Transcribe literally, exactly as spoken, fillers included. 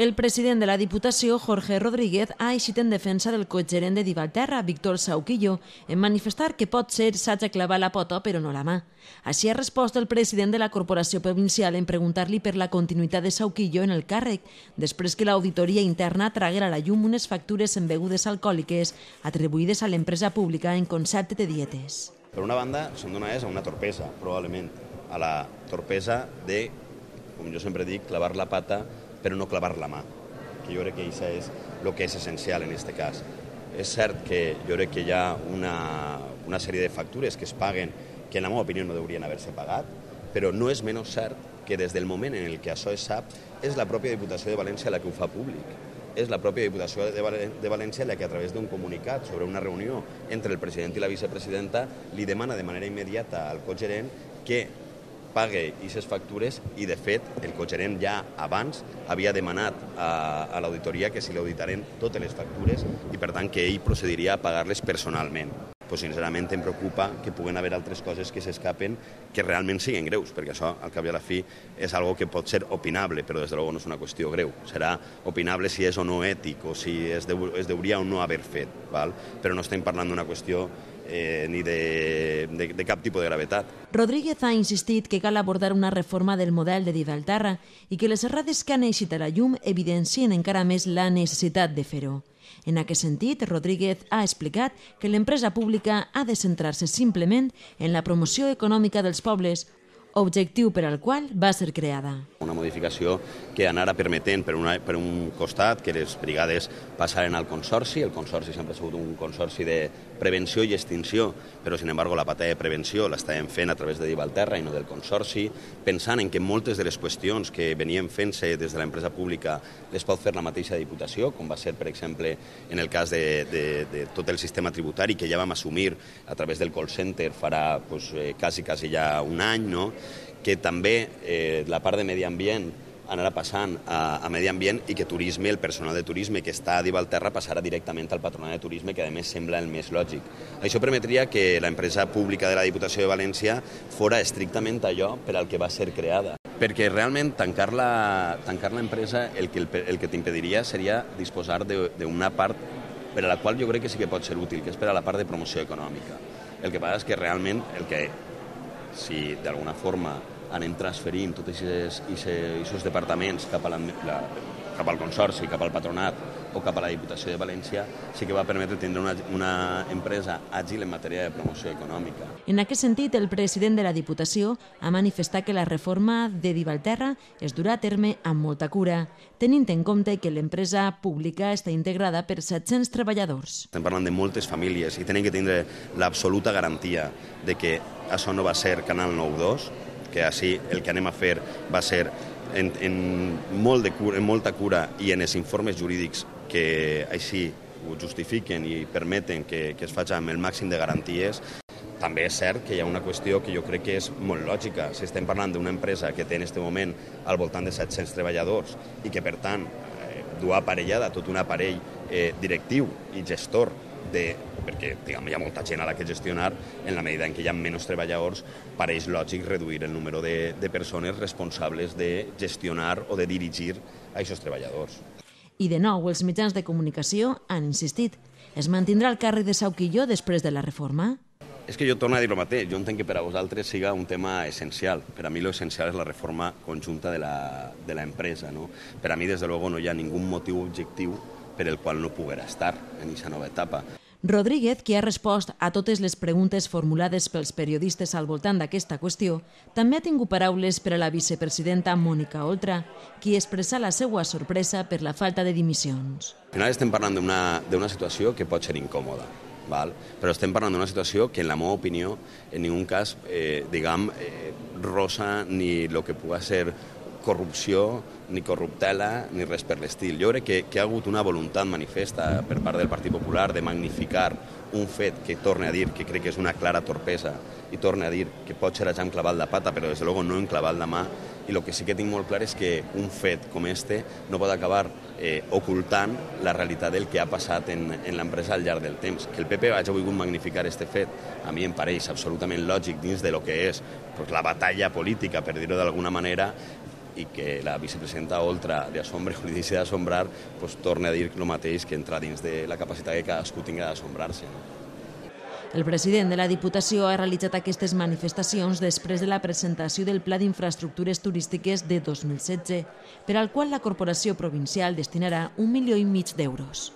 El president de la Diputació, Jorge Rodríguez, ha eixit en defensa del cogerent de Divalterra, Víctor Sauquillo, en manifestar que pot ser s'haja clavar la pota però no la mà. Així ha respost el president de la Corporació Provincial en preguntar-li per la continuïtat de Sauquillo en el càrrec, després que l'auditoria interna traguera a la llum unes factures en begudes alcohòliques atribuïdes a l'empresa pública en concepte de dietes. Per una banda, són donades a una torpesa, probablement, a la torpesa de, com jo sempre dic, clavar la pata però no clavar la mà, que jo crec que això és el que és essencial en aquest cas. És cert que jo crec que hi ha una, una sèrie de factures que es paguen que en la meva opinió no haurien haver-se pagat, però no és menys cert que des del moment en el que això es sap és la pròpia Diputació de València la que ho fa públic. És la pròpia Diputació de València la que a través d'un comunicat sobre una reunió entre el president i la vicepresidenta li demana de manera immediata al cogerent que pague aquestes factures i, de fet, el cogerent ja abans havia demanat a, a l'auditoria que se li auditaren totes les factures i, per tant, que ell procediria a pagar-les personalment. Pues, sincerament, em preocupa que puguen haver altres coses que s'escapen que realment siguin greus, perquè això, al cap i a la fi, és algo que pot ser opinable, però, des de luego, no és una qüestió greu. Serà opinable si és o no ètic o si es, deu, es deuria o no haver fet, val? Però no estem parlant d'una qüestió Eh, ni de, de, de cap tipus de gravetat. Rodríguez ha insistit que cal abordar una reforma del model de Divalterra i que les errades que han eixit a la llum evidencien encara més la necessitat de fer-ho. En aquest sentit, Rodríguez ha explicat que l'empresa pública ha de centrar-se simplement en la promoció econòmica dels pobles, objectiu per al qual va ser creada. Una modificació que anara permetent per, una, per un costat que les brigades passaren al consorci. El consorci sempre ha sigut un consorci de prevenció i extinció, però, sin embargo, la pata de prevenció l'estàvem fent a través de Divalterra i no del consorci, pensant en que moltes de les qüestions que venien fent-se des de l'empresa pública les pot fer la mateixa Diputació, com va ser, per exemple, en el cas de, de, de tot el sistema tributari que ja vam assumir a través del call center farà pues, eh, quasi, quasi ja un any, no? Que també eh, la part de medi ambient anarà passant a, a medi ambient i que turisme, el personal de turisme que està a Divalterra passarà directament al patronat de turisme, que a més sembla el més lògic. Això permetria que l'empresa pública de la Diputació de València fora estrictament allò per al que va ser creada. Perquè realment tancar l'empresa el que, el que t'impediria seria disposar d'una part per a la qual jo crec que sí que pot ser útil, que és per a la part de promoció econòmica. El que passa és que realment el que si d'alguna forma anem transferint tots aquests departaments cap, a la, la, cap al consorci, cap al patronat o cap a la Diputació de València, sí que va permetre tenir una, una empresa àgil en matèria de promoció econòmica. En aquest sentit, el president de la Diputació ha manifestat que la reforma de Divalterra es durà a terme amb molta cura, tenint en compte que l'empresa pública està integrada per set-cents treballadors. Estem parlant de moltes famílies i tenen que tindre l'absoluta garantia de que això no va ser Canal nou dos, que així el que anem a fer va ser en, en, molt de cura, en molta cura i en els informes jurídics que així ho justifiquen i permeten que, que es faci amb el màxim de garanties. També és cert que hi ha una qüestió que jo crec que és molt lògica. Si estem parlant d'una empresa que té en aquest moment al voltant de set-cents treballadors i que, per tant, eh, du aparellada tot un aparell eh, directiu i gestor de, perquè diguem, hi ha molta gent a la que gestionar, en la medida en què hi ha menys treballadors, pareix lògic reduir el número de, de persones responsables de gestionar o de dirigir a aquests treballadors. I de nou, els mitjans de comunicació han insistit. Es mantindrà el càrrec de Sauquillo després de la reforma? És que jo torno a dir el mateix. Jo entenc que per a vosaltres siga un tema essencial. Per a mi l'essencial és la reforma conjunta de l'empresa. No? Per a mi, des de luego, no hi ha ningú motiu objectiu per el qual no poguera estar en aquesta nova etapa. Rodríguez, que ha respost a totes les preguntes formulades pels periodistes al voltant d'aquesta qüestió, també ha tingut paraules per a la vicepresidenta Mònica Oltra, qui expressa la seva sorpresa per la falta de dimissions. Al final estem parlant d'una situació que pot ser incòmoda, val? Però estem parlant d'una situació que, en la meva opinió, en ningú cas, eh, diguem, eh, rosa ni el que pugui ser corrupció, ni corruptela, ni res per l'estil. Jo crec que, que hi ha hagut una voluntat manifesta per part del Partit Popular de magnificar un fet que torne a dir que crec que és una clara torpesa i torne a dir que pot ser ja hem clavat la pata, però des de luego no hem clavat la mà, i el que sí que tinc molt clar és que un fet com este no pot acabar eh, ocultant la realitat del que ha passat en, en l'empresa al llarg del temps. Que el P P hagi volgut magnificar este fet, a mi em pareix absolutament lògic dins de lo que és pues, la batalla política, per dir-ho d'alguna manera, i que la vicepresidenta Oltra de Assombra o li deixi d'assombrar, pues, torna a dir el mateix, que entra dins de la capacitat que cadascú tingui d'assombrar-se. El president de la Diputació ha realitzat aquestes manifestacions després de la presentació del Pla d'Infraestructures Turístiques de dos mil setze, per al qual la Corporació Provincial destinarà un milió i mig d'euros.